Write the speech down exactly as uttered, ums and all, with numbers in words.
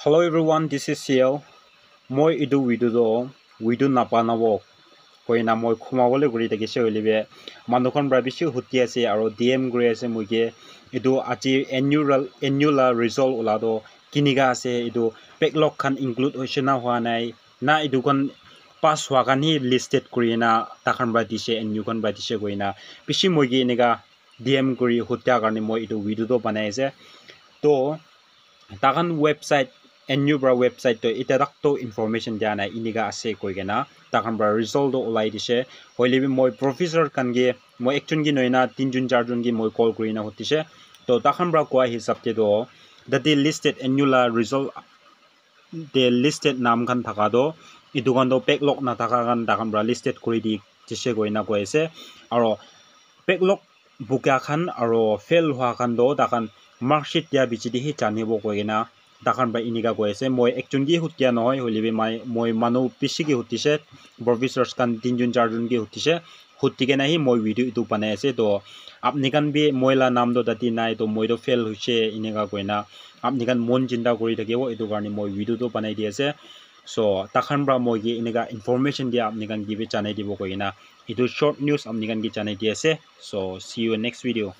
Hello everyone, this is C L. Moi etu video to video napanabo koina moi khuma bole kuri thakise hoile be manu khan para bishi huti ase aro D M kuri ase moi ke etu aji annual annual la result ula to kinika ase etu backlog khan include hoise na hua nai na etu khan pass hua khan hi listed kuri na takhan para dise annual khan para dise koina bishi moi ke enika D M kuri hutia karne moi etu video to banai ase to takhan website annual para website to ita tak to information dia nai enika ase koi kena takhan para result to ulai dise hoile bi moi professor khan ke moi ekjon ke nohoi na tinjon charjon ke moi call kuri na hutise to takhan para koa hisab te to tate listed annual la result te listed naam khan thaka to etu khan to backlog na thaka khan takhan para listed kuri di dise koi na koi ase aro backlog buka khan aro fail hua khan to takhan mark sheet dia bichi di hi janibo koi kena takhan para enika koi ase moi ekjon ke hutia nohoi hoile bi mai moi manu bishi ke hutise professors khan tinjon charjon ke hutise huti kena hi moi video etu banai ase to apni khan bi moi la naam to tate nai to moi to fail hoise enika koina apni khan mon chinta kuri thakibo etu karne moi video to banai di ase so takhan para moi ke enika information dia apni khan ke bi janai dibo koi kena etu short news apni khan ke janai di ase so see you next video.